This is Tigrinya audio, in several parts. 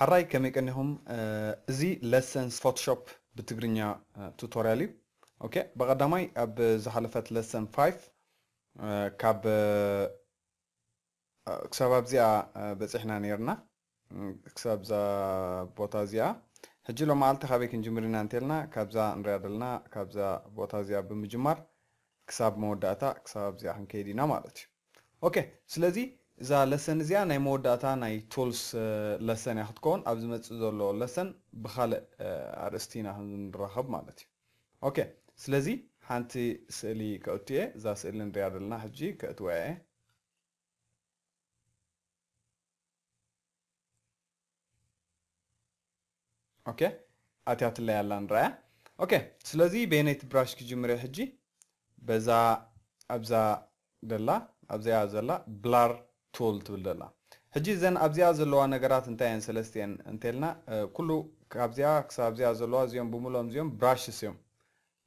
ሕራይ ከመይ ቀኒኹም? እዚ ለሰን ፎቶሾፕ ብትግርኛ ቱቶርያል እዩ። ኦኬ፣ ብቐዳማይ ኣብ ዝሓለፈት ለሰን ፋይቭ ካብ ክሳብ ኣብዚኣ በፂሕና ነይርና፣ ክሳብ እዛ ቦታ እዚኣ። ሕጂ ሎመዓልቲ ካበይ ክንጅምር ኢና እንተልና ካብዛ ንሪኣ ዘለና ካብዛ ቦታ እዚኣ ብምጅማር ክሳብ መወዳእታ ክሳብ ኣብዚኣ ክንከይድ ኢና ማለት እዩ። ኦኬ፣ ስለዚ እዛ ለሰን እዚኣ ናይ መወዳእታ ናይ ቱልስ ለሰን እያ ክትከውን። ኣብ ዝመፅእ ዘሎ ለሰን ብካልእ ኣርእስቲ ኢና ክንራኸብ ማለት እዩ። ኦኬ፣ ስለዚ ሓንቲ ስእሊ ከእቱ እየ። እዛ ስእሊ ንሪኣ ዘለና ሕጂ ከእትዋ እየ። ኦኬ፣ ኣትያትለይ ኣላ ንረኣያ። ኦኬ፣ ስለዚ በየነይቲ ብራሽ ክጅምር እየ ሕጂ? በዛ ኣብዛ ደላ ኣብዚኣ ዘላ ብላር ቱል ትብል ደላ። ሕጂ እዘን ኣብዚኣ ዘለዋ ነገራት እንታይ እየን? ሰለስቲአን እንተልና ኩሉ ካብዚኣ ክሳብ ኣብዚኣ ዘለዋ እዚኦም ብምሎም እዚኦም ብራሽስ እዮም።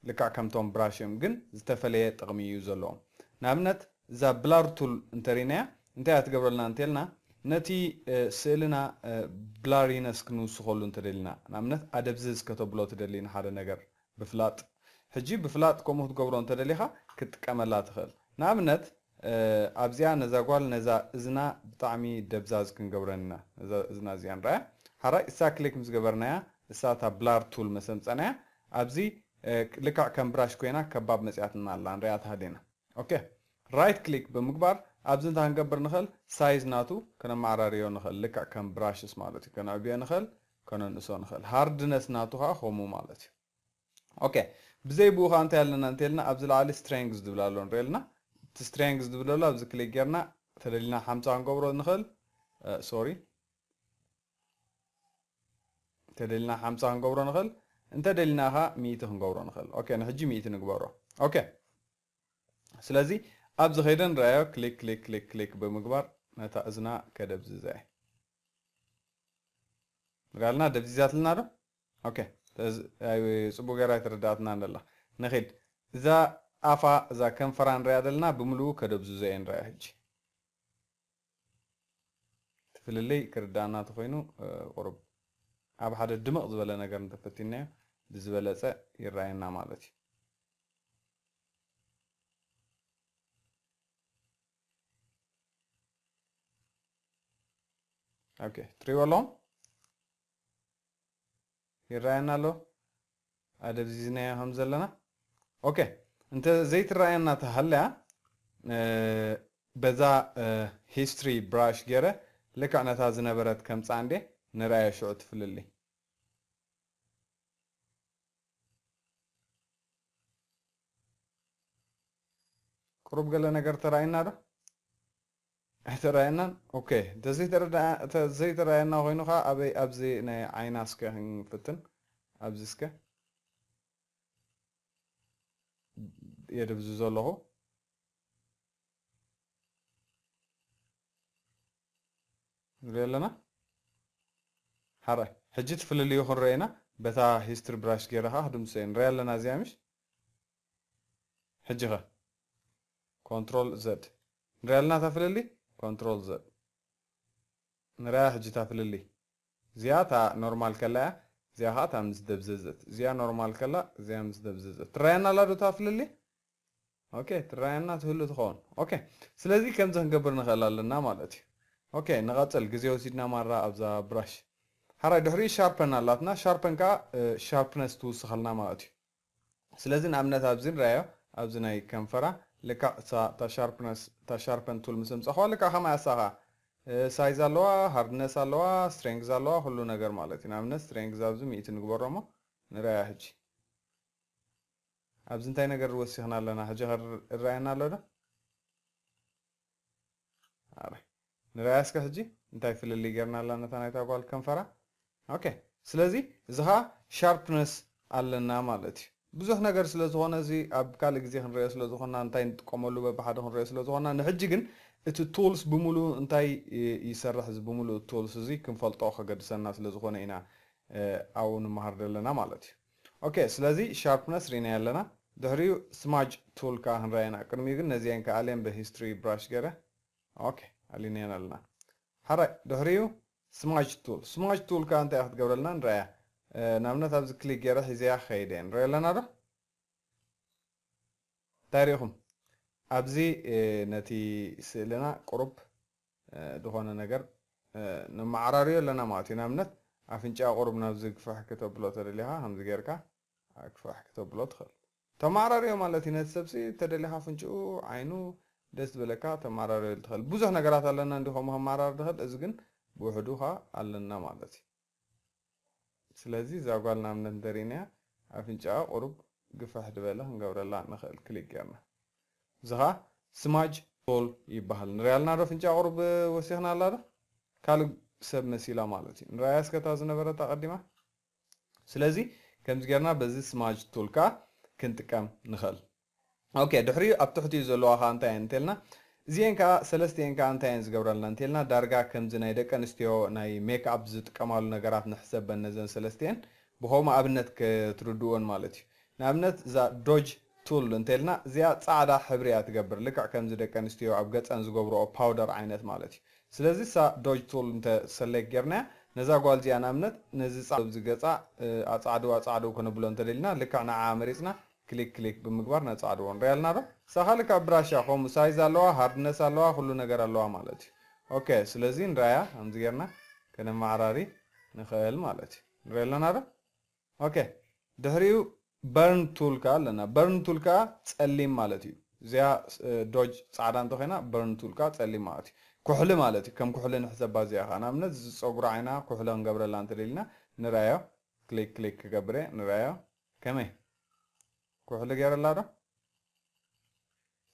ልክዕ ከምቶም ብራሽ እዮም፣ ግን ዝተፈለየ ጥቕሚ እዩ ዘለዎም። ንኣብነት እዛ ብላር ቱል እንተሪናያ እንታይ እያ ትገብረልና እንተልና ነቲ ስእልና ብላሪነስ ክንውስኸሉ እንተደሊና፣ ንኣብነት ኣደብዝዝ ከተብሎ ትደሊ ንሓደ ነገር ብፍላጥ። ሕጂ ብፍላጥ ከምኡ ክትገብሮ እንተደሊኻ ክትጥቀመላ ትኽእል። ንኣብነት ኣብዚኣ ነዛ ጓል ነዛ እዝና ብጣዕሚ ደብዛዝ ክንገብረን ኢና። ነዛ እዝና እዚኣ ንረኣያ። ሓራይ እሳ ክሊክ ምስ ገበርናያ እሳ እታ ብላር ቱል መሰምፀናያ ኣብዚ ልክዕ ከም ብራሽ ኮይና ከባብ መፅያትና ኣላ ንሪኣ ተሃሊና። ኦኬ፣ ራይት ክሊክ ብምግባር ኣብዚ እንታይ ክንገብር ንኽእል? ሳይዝ ናቱ ከነመዓራርዮ ንኽእል። ልክዕ ከም ብራሽስ ማለት እዩ። ከነዕብዮ ንኽእል፣ ከነንእሶ ንኽእል። ሃርድነስ ናቱ ከዓ ከምኡ ማለት እዩ። ኦኬ፣ ብዘይ ብኡ ከዓ እንታይ ኣለና እንተልና ኣብዚ ላዕሊ ስትሬንግዝ ዝብል ኣሎ ንሪኦ ኣለና። እቲ ስትሬንግዝ ዝብል ኣሎ ኣብዚ ክሊክ ጌርና ተደሊና ሓምሳ ክንገብሮ ንኽእል። ሶሪ፣ ተደሊና ሓምሳ ክንገብሮ ንኽእል፣ እንተደሊና ከዓ ሚእቲ ክንገብሮ ንኽእል። ኦኬ፣ ንሕጂ ሚእቲ ንግበሮ። ኦኬ፣ ስለዚ ኣብዚ ኸይደ ንረኣዮ ክሊክ ክሊክ ክሊክ ክሊክ ብምግባር ነታ እዝና ከደብዝዛ እየ። ንሪኣልና ደብዚዛትልና ዶ? ኦኬ፣ ጽቡቅ ገይራ ኣይተረዳእትና እንደላ። ንኺድ እዛ ኣፋ እዛ ከንፈራ ንሪኣ ዘለና ብምልኡ ከደብዝዞ እየ ንሪኣ ሕጂ። እቲ ፍልልይ ክርዳእና ተኾይኑ ቁሩብ ኣብ ሓደ ድምቕ ዝበለ ነገር እንተፈቲናዮ ብዝበለጸ ይረኣየና ማለት እዩ። ኦኬ፣ ትሪእዎ ኣለኹም? ይረኣየና ኣሎ ኣደብዚዝናዮ ከም ዘለና። ኦኬ፣ እንተ ዘይትረኣየና ተሃልያ በዛ ሂስትሪ ብራሽ ገይረ ልክዕ ነታ ዝነበረት ከምፃ እንዴ ንረኣየ ሽዑ ትፍልሊ። ቁሩብ ገለ ነገር ተራእየና ዶ? ኣይተራእየናን። ኦኬ፣ እንተዘይተረዳ-፣ እንተዘይተራእየና ኮይኑ ከዓ ኣበይ ኣብዚ ናይ ዓይና እስከ ክንፍትን። ኣብዚ እስከ የደብዝዞ ኣለኹ። ንሪኦ ኣለና። ሓራይ ሕጂ እቲ ፍልልዩ ክንሪኦ ኢና። በታ ሂስትሪ ብራሽ ገይረ ከዓ ክድምስሶ እየ። ንሪኦ ኣለና እዚኣ ምሽ? ሕጂ ኸ ኮንትሮል ዘድ። ንሪኦ ኣለና እታ ፍልልይ? ኮንትሮል ዘድ። ንሪኣ ሕጂ እታ ፍልልይ። እዚኣ እታ ኖርማል ከላ እያ። እዚኣ ከዓ እታ ምስ ደብዘዘት። እዚኣ ኖርማል ከላ፣ እዚኣ ምስ ደብዘዘት። ትረኣየና ኣላ ዶ እታ ፍልልይ? ኦኬ፣ ትረኣየና ትህሉ ትኸውን። ኦኬ፣ ስለዚ ከምዚ ክንገብር ንኽእል ኣለና ማለት እዩ። ኦኬ፣ ንቐጽል። ግዜ ወሲድና ማራ ኣብዛ ብራሽ። ሓራይ ድሕሪኡ ሻርፐን ኣላትና። ሻርፐን ከዓ ሻርፕነስ ትውስኸልና ማለት እዩ። ስለዚ ንኣብነት ኣብዚ ንረኣዮ፣ ኣብዚ ናይ ከንፈራ ልክዕ እታ፣ እታ ሻርፕነስ፣ እታ ሻርፐን ቱል ምስ ኣምጻኹዋ ልክዕ ከማይ ኣሳኻ ሳይዝ ኣለዋ፣ ሃርድነስ ኣለዋ፣ ስትሬንግዝ ኣለዋ፣ ኩሉ ነገር ማለት እዩ። ንኣብነት ስትሬንግዝ ኣብዚ ሚእቲ ንግበሮ እሞ ንረኣያ ሕጂ። ኣብዚ እንታይ ነገር ወሲኽና ኣለና? ሕጂ ከ ይረኣየና ኣሎ ዶ? ኣረ፣ ንረኣያ እስከ ሕጂ እንታይ ፍልልይ ጌርና ኣላ ነታ ናይታ ጓል ከንፈራ። ኦኬ፣ ስለዚ እዚ ኸዓ ሻርፕነስ ኣለና ማለት እዩ። ብዙሕ ነገር ስለ ዝኾነ እዚ ኣብ ካልእ ግዜ ክንሪኦ ስለ ዝኾንና እንታይ ንጥቀመሉ በብሓደ ክንሪኦ ስለ ዝኾንና ንሕጂ ግን እቲ ቱልስ ብምሉኡ እንታይ ይ-፣ ይሰርሕ እዚ ብምሉኡ ቱልስ እዚ ክንፈልጦ ከገድሰና ስለ ዝኾነ ኢና ኣብኡ ንመሃር ዘለና ማለት እዩ። ኦኬ፣ ስለዚ ሻርፕነስ ርኢናዮ ኣለና። ድሕሪኡ ስማጅ ቱል ከዓ ክንረኣየና። ቅድሚኡ ግን ነዚአን ከኣልየን ብሂስትሪ ብራሽ ገይረ። ኦኬ፣ ኣሊናየን ኣለና። ሓራይ ድሕሪኡ smudge tool smudge tool ከኣ እንታይ ክትገብረልና ንረኣያ። ንኣብነት ኣብዚ ክሊክ ገይረ ሒዘያ ክኸይደ እየ። ንሪኦ ኣለና ዶ? እንታይ ርኢኹም? ኣብዚ ነቲ ስእልና ቁሩብ ዝኾነ ነገር ነመዓራርዮ ኣለና ማለት እዩ። ንኣብነት ኣፍንጫ ቁሩብ ናብዚ ግፍሕ ክተብሎ ተደሊኻ ከምዚ ጌርካ ግፍሕ ክተብሎ ትኽእል። ተመዓራርዮ ማለት እዩ። ነቲ ሰብሲ ተደሊኻ ኣፍንጭኡ ዓይኑ ደስ ዝበለካ ተመዓራርዮ ትኽእል። ብዙሕ ነገራት ኣለና እንዲ ከምኡ ከመዓራር ትኽእል። እዚ ግን ብውሕዱ ኸ ኣለና ማለት እዩ። ስለዚ እዛ ጓል ንኣብነት እንተሪእናያ ኣፍንጫኣ ቁሩብ ግፍሕ ዝበለ ክንገብረላ ንኽእል ክሊክ ጌርና። እዚ ኸኣ smudge tool ይበሃል። ንሪኣልና ዶ ኣፍንጫ ቁሩብ ወሲኽና ኣላ ዶ? ካልእ ሰብ መሲላ ማለት እዩ። ንሪኣያ እስከ እታ ዝነበረት ኣቐዲማ። ስለዚ ከምዚ ጌርና በዚ smudge tool ከኣ ክንጥቀም ንኽእል። ኦኬ ድሕሪኡ ኣብ ትሕቲኡ ዘለዋ ከኣ እንታይ እየን እንተልና እዚአን ከኣ ሰለስቲአን ከኣ እንታይ እየን ዝገብረልና እንተልና ዳርጋ ከምዚ ናይ ደቂ ኣንስትዮ ናይ ሜክ ኣፕ ዝጥቀማሉ ነገራት ንሕሰበን ነዘን ሰለስቲአን ብኸምኡ ኣብነት ክትርድእወን ማለት እዩ። ንኣብነት እዛ ዶጅ ቱል እንተልና እዚኣ ፃዕዳ ሕብሪ እያ ትገብር። ልክዕ ከምዚ ደቂ ኣንስትዮ ኣብ ገፀን ዝገብርኦ ፓውደር ዓይነት ማለት እዩ። ስለዚ እሳ ዶጅ ቱል እንተ ሰሌክት ጌርናያ ነዛ ጓል እዚኣ ንኣብነት ነዚ ፃዕዳ ዝገፃ ኣፃዕድው ኣፃዕድው ከነብሎ እንተደሊና ልክዕ ንዓ መሪፅና ክሊክ ክሊክ ብምግባር ነፃዕድዎ ንሪኣ ኣለና ዶ? እሳ ካልእ ካብ ብራሻ ከምኡ ሳይዝ ኣለዋ፣ ሃርድነስ ኣለዋ፣ ኩሉ ነገር ኣለዋ ማለት እዩ። ኦኬ ስለዚ ንራያ ከምዚ ጌርና ከነመዓራሪ ንኽእል ማለት እዩ። ንሪኦ ኣለና ዶ? ኦኬ ድሕሪኡ በርን ቱል ከኣ ኣለና። በርን ቱል ከኣ ፀሊም ማለት እዩ። እዚኣ ዶጅ ፃዕዳ እንተኮይና በርን ቱል ከኣ ፀሊም ማለት እዩ። ኩሕሊ ማለት እዩ። ከም ኩሕሊ ንሕሰባ እዚኣ ከኣ ንኣብነት ዝፀጉሪ ዓይና ኩሕሊ ክንገብረላ እንተደሊና ንርኣዮ። ክሊክ ክሊክ ክገብረ ንርኣዮ። ከመይ ኩሕሊ ገይረላ ዶ?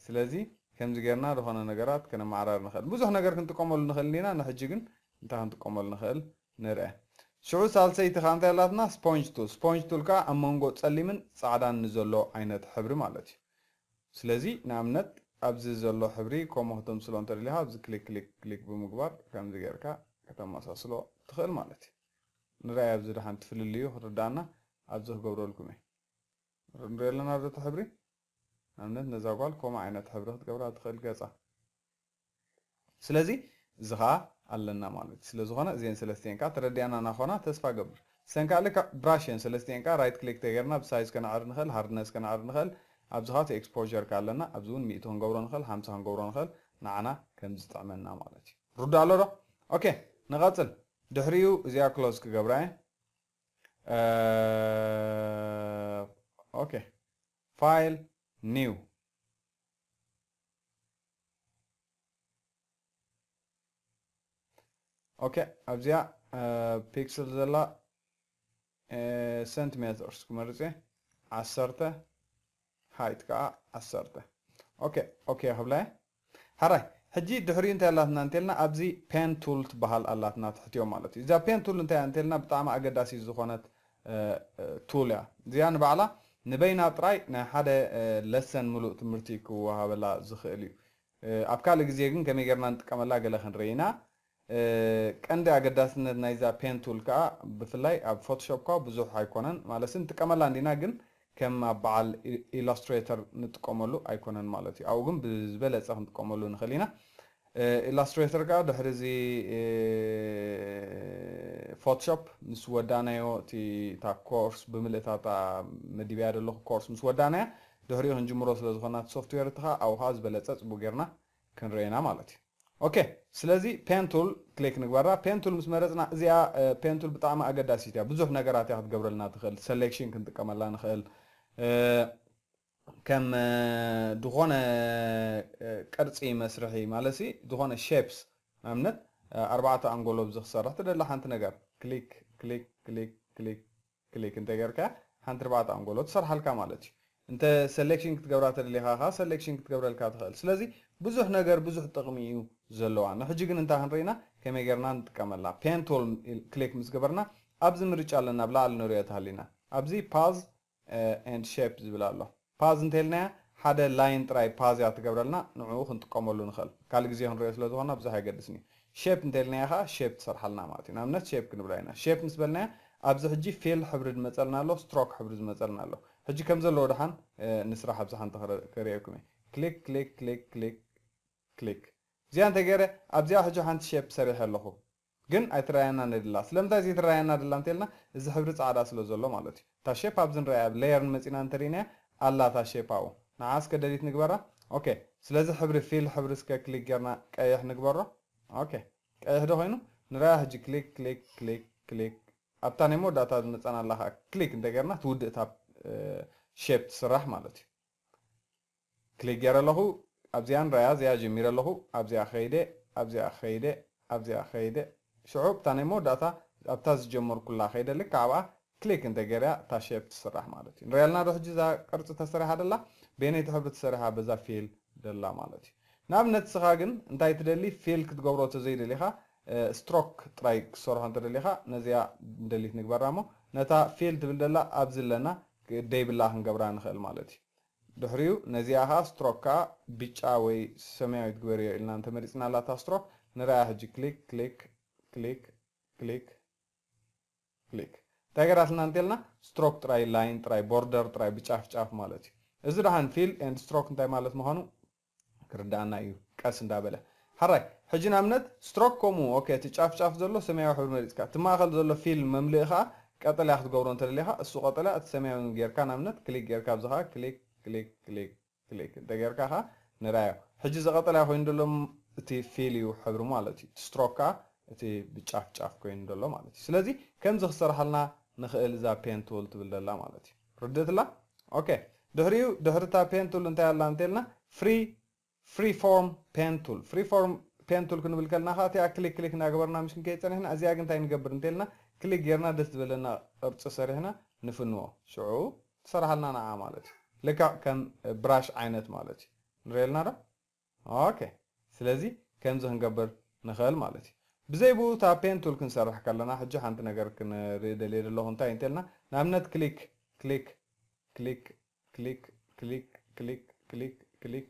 ስለዚ ከምዚ ጌርና ዝኾነ ነገራት ከነመዓራር ንኽእል። ብዙሕ ነገር ክንጥቀመሉ ንኽእል እንዲና፣ ንሕጂ ግን እንታይ ክንጥቀመሉ ንኽእል ንርአ። ሽዑ ሳልሰይቲ ከኣ እንታይ ኣላትና? ስፖንጅ ቱል። ስፖንጅ ቱል ከኣ ኣብ መንጎ ጸሊምን ጻዕዳን ንዘሎ ዓይነት ሕብሪ ማለት እዩ። ስለዚ ንኣብነት ኣብዚ ዘሎ ሕብሪ ከምኡ ክተምስሎ እንተደሊኻ ኣብዚ ክሊክ ክሊክ ክሊክ ብምግባር ከምዚ ጌርካ ከተመሳስሎ ትኽእል ማለት እዩ። ንርኣይ ኣብዚ ደሓን ትፍልልዩ ክርዳእና ኣብዚ ክገብረልኩም እየ። ንሪኦ ኣለና ዶ እቲ ሕብሪ? ንኣብነት ነዛ ጓል ከምኡ ዓይነት ሕብሪ ክትገብራ ትኽእል ገጻ። ስለዚ እዚ ኸኣ ኣለና ማለት እዩ። ስለ ዝኾነ እዚአን ሰለስቲአን ከኣ ተረዲኣና ናኾና ተስፋ ገብር። ሰን ከኣ ልክዕ ብራሽ እየን ሰለስቲአን ከኣ ራይት ክሊክ ተገይርና ብሳይዝ ከነዕሪ ንኽእል፣ ሃርድነስ ከነዕሪ ንኽእል። ኣብዚ ኸኣ እቲ ኤክስፖዠር ከኣ ኣለና። ኣብዚ እውን ሚእቲ ክንገብሮ ንኽእል፣ ሓምሳ ክንገብሮ ንኽእል። ንዓና ከም ዝጥዕመና ማለት እዩ። ርዱእ ኣሎ ዶ? ኦኬ ንቐጽል። ድሕሪኡ እዚኣ ክሎዝ ክገብራ እየ። ኦኬ ፋይል ኒው። ኦኬ ኣብዚኣ ፒክስል ዘላ ሰንቲሜትርስ ክመርፅ እየ። ዓሰርተ ሃይት ከዓ ዓሰርተ። ኦኬ ኦኬ ክብላ እየ። ሓራይ ሕጂ ድሕሪኡ እንታይ ኣላትና እንተልና ኣብዚ ፔን ቱል ትበሃል ኣላትና ትሕትዮ ማለት እዩ። እዛ ፔን ቱል እንታይ እንተልና ብጣዕሚ ኣገዳሲ ዝኾነት ቱል እያ። እዚኣ ንባዕላ ንበይና ጥራይ ናይ ሓደ ለሰን ምሉእ ትምህርቲ ክወሃበላ ዝኽእል እዩ። ኣብ ካልእ ግዜ ግን ከመይ ጌርና ንጥቀመላ ገለ ክንርኢ ኢና። ቀንዲ ኣገዳስነት ናይዛ ፔን ቱል ከዓ ብፍላይ ኣብ ፎቶሾፕ ከዓ ብዙሕ ኣይኮነን ማለት ንጥቀመላ እንዲና ግን ከም ኣብ በዓል ኢላስትሬተር ንጥቀመሉ ኣይኮነን ማለት እዩ። ኣብኡ ግን ብዝበለፀ ክንጥቀመሉ ንኽእል ኢና። ኢላስትሬተር ከዓ ድሕሪ እዚ ፎቶሾፕ ምስ ወዳናዮ እቲ እታ ኮርስ ብምልእታታ መዲብያ ዘለኹ ኮርስ ምስ ወዳናያ ድሕሪኡ ክንጅምሮ ስለ ዝኾና እቲ ሶፍትዌር እቲ ከዓ ኣብኡ ከዓ ዝበለፀ ፅቡቅ ጌርና ክንርኤና ማለት እዩ። ኦኬ ስለዚ ፔን ቱል ክሊክ ንግበራ። ፔን ቱል ምስ መረፅና እዚኣ ፔን ቱል ብጣዕሚ ኣገዳሲት እያ። ብዙሕ ነገራት እያ ክትገብረልና ትኽእል። ሰሌክሽን ክንጥቀመላ ንኽእል። ከም ዝኾነ ቅርፂ መስርሒ ማለት ሲ ዝኾነ ሼፕስ ንኣብነት ኣርባዕተ ኣንጎሎ ብዚ ክሰርሕ ትደሊ ሓንቲ ነገር ክሊክ ክሊክ ክሊክ ክሊክ ክሊክ እንተገርካ ሓንቲ ኣርባዕተ ኣንጎሎ ትሰርሓልካ ማለት እዩ። እንተ ሰሌክሽን ክትገብራ ተደሊኻ ከ ሰሌክሽን ክትገብረልካ ትኽእል። ስለዚ ብዙሕ ነገር ብዙሕ ጥቕሚ እዩ ዘለዋ። ንሕጂ ግን እንታይ ክንርኢና ከመይ ጌርና ንጥቀመላ። ፔን ቱል ክሊክ ምስ ገበርና ኣብዚ ምርጫ ኣለና። ኣብ ላዕሊ ንሪኦ ተሃሊና ኣብዚ ፓዝ ኤንድ ሼፕ ዝብል ኣሎ። ፓዝ እንተልናያ ሓደ ላይን ጥራይ ፓዝ እያ ትገብረልና። ንዕኡ ክንጥቀመሉ ንኽእል። ካልእ ግዜ ክንሪኦ ስለ ዝኾና ብዙሕ ኣይገድስን እዩ። ሼፕ እንተልናያ ከዓ ሼፕ ትሰርሓልና ማለት እዩ። ንኣብነት ሼፕ ክንብላ ኢና። ሼፕ ምስ በልናያ ኣብዚ ሕጂ ፊል ሕብሪ ዝመፀልና ኣሎ፣ ስትሮክ ሕብሪ ዝመፀልና ኣሎ። ሕጂ ከም ዘለዎ ደሓን ንስራሕ ኣብዚ ሓንቲ ከሪኤኩም እየ። ክሊክ ክሊክ ክሊክ ክሊክ ክሊክ እዚኣ እንተገይረ ኣብዚኣ ሕጂ ሓንቲ ሼፕ ሰሪሐ ኣለኹ። ግን ኣይትረኣየና ነድላ። ስለምንታይ ዘይትረኣየና ደላ እንተልና፣ እዚ ሕብሪ ጻዕዳ ስለ ዘሎ ማለት እዩ። እታ ሼፕ ኣብዚ ንረኣያ፣ ኣብ ሌየር ንመጺና እንተሪእናያ፣ ኣላ እታ ሼፕ ኣብኡ። ንዓ እስከ ደሊት ንግበራ። ኦኬ፣ ስለዚ ሕብሪ ፊል ሕብሪ እስከ ክሊክ ጌርና ቀይሕ ንግበሮ። ኦኬ፣ ቀይሕ ዶ ኮይኑ? ንረኣያ ሕጂ። ክሊክ፣ ክሊክ፣ ክሊክ፣ ክሊክ። ኣብታ ናይ መወዳእታ ዝመጸና ኣላ ኸዓ ክሊክ እንተጌርና፣ ትውድእ እታ፣ እ፣ ሼፕ ትስራሕ ማለት እዩ። ክሊክ ገይረ ኣለኹ። ኣብዚኣ ንረኣያ፣ እዚኣ ጀሚረ ኣለኹ። ኣብዚኣ ከይደ፣ ኣብዚኣ ከይደ፣ ኣብዚኣ ከይደ። ሽዑ ኣብታ ናይ መወዳእታ፣ ኣብታ ዝጀመርኩላ ከይደ፣ ልክዕ ኣብኣ ክሊክ እንተገይረያ፣ እታ ሼፕ ትስራሕ ማለት እዩ። ንሪኣልና ዶ ሕጂ እዛ ቅርጺ ተሰሪሓ ደላ? በየነይቲ ሕብሪ ተሰሪሓ? በዛ ፊል ደላ ማለት እዩ። ንኣብነት፣ ንስኻ ግን እንታይ ትደሊ? ፊል ክትገብሮ ተዘይደሊኻ፣ እ፣ ስትሮክ ጥራይ ክትሰርሖ እንተደሊኻ፣ ነዚኣ ደሊት ንግበራ እሞ፣ ነታ ፊል ትብል ደላ ኣብዚ ኣለና፣ ደይብላ ክንገብራ ንኽእል ማለት እዩ። ድሕሪኡ ነዚኣ ኸዓ ስትሮክ ከኣ ብጫ ወይ ሰማያዊት ግበርዮ ኢልና እንተመሪጽና ኣላታ ስትሮክ ንርኣያ ሕጂ። ክሊክ፣ ክሊክ፣ ክሊክ፣ ክሊክ፣ ክሊክ። እንታይ ገራትና እንተልና ስትሮክ ጥራይ፣ ላይን ጥራይ፣ ቦርደር ጥራይ ብጫፍ ጫፍ ማለት እዩ። እዚ ደሓን ፊል ኤንድ ስትሮክ እንታይ ማለት ምዃኑ ክርድኣና እዩ ቀስ እንዳበለ። ሓራይ፣ ሕጂ ንኣብነት ስትሮክ ከምኡ፣ ኦኬ፣ እቲ ጫፍ ጫፍ ዘሎ ሰማያዊ ሕብሪ መሪጽካ፣ እቲ ማእከል ዘሎ ፊል መምልኢ ከኣ ቀጠልያ ክትገብሮ እንተደሊኻ፣ እሱ ቀጠልያ፣ እቲ ሰማያዊ ጌርካ፣ ንኣብነት ክሊክ ጌርካ፣ ኣብዚ ከኣ ክሊክ፣ ክሊክ፣ ክሊክ፣ ክሊክ እንተ ጌርካ ከኣ ንርኣዮ። ሕጂ እዚ ቀጠልያ ኮይኑ ዘሎ ም-፣ እቲ ፊል እዩ ሕብሪ ማለት እዩ። እቲ ስትሮክ ከኣ እቲ ብጫፍ ጫፍ ኮይኑ ዘሎ ማለት እዩ። ስለዚ ከምዚ ክሰርሓልና ንኽእል እዛ ፔን ቱል ትብል ዘላ ማለት እዩ። ርድእትላ? ኦኬ። ድሕሪኡ፣ ድሕሪ እታ ፔን ቱል እንታይ ኣላ እንተልና፣ ፍሪ ፍሪ ፎርም ፔን ቱል። ፍሪ ፎርም ፔን ቱል ክንብል ከለና ከኣ እቲኣ ክሊክ ክሊክ እናገበርና ምሽ ክንከይድ ጸኒሕና፣ እዚኣ ግን እንታይ ንገብር እንተልና፣ ክሊክ ጌርና ደስ ዝበለና ቅርጺ ሰሪሕና ንፍንዎ። ሽዑ ትሰርሓልና ንዓ ማለት እዩ። ልክዕ ከም ብራሽ ዓይነት ማለት እዩ። ንርእየልና ዶ? ኦኬ። ስለዚ ከምዚ ክንገብር ንኽእል ማለት እዩ። ብዘይ ብኡ እታ ፔን ቱል ክንሰርሕ ከለና፣ ሕጂ ሓንቲ ነገር ክንርኢ ደልየ ዘለኹ። እንታይ እንተልና፣ ንኣብነት ክሊክ፣ ክሊክ፣ ክሊክ፣ ክሊክ፣ ክሊክ፣ ክሊክ፣ ክሊክ፣ ክሊክ፣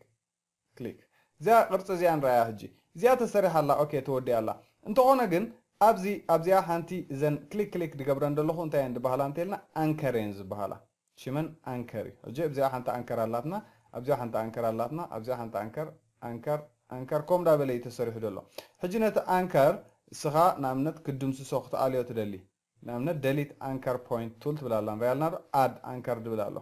ክሊክ። እዚኣ ቅርጺ እዚኣ ንረኣያ ሕጂ። እዚኣ ተሰሪሓ ኣላ፣ ኦኬ፣ ተወዲኣ ኣላ። እንተኾነ ግን ኣብዚ፣ ኣብዚኣ ሓንቲ እዘን ክሊክ ክሊክ ድገብረን ዘለኹ እንታይ እየን ድበሃላ እንተልና፣ ኣንከር እየን ዝበሃላ። ሽመን ኣንከር እዩ። ሕጂ ኣብዚኣ ሓንቲ ኣንከር ኣላትና፣ ኣብዚኣ ሓንቲ ኣንከር ኣላትና፣ ኣብዚኣ ሓንቲ ኣንከር፣ ኣንከር፣ ኣንከር፣ ከምኡ እንዳበለ እዩ ተሰሪሑ ዘሎ። ሕጂ ነቲ ኣንከር እስኻ ንኣብነት ክድምስሶ ክትኣልዮ ትደሊ። ንኣብነት ደሊት ኣንከር ፖይንት ቱል ትብል ኣላ፣ ንሪኣ ኣለና ዶ? ኣድ ኣንከር ድብል ኣሎ።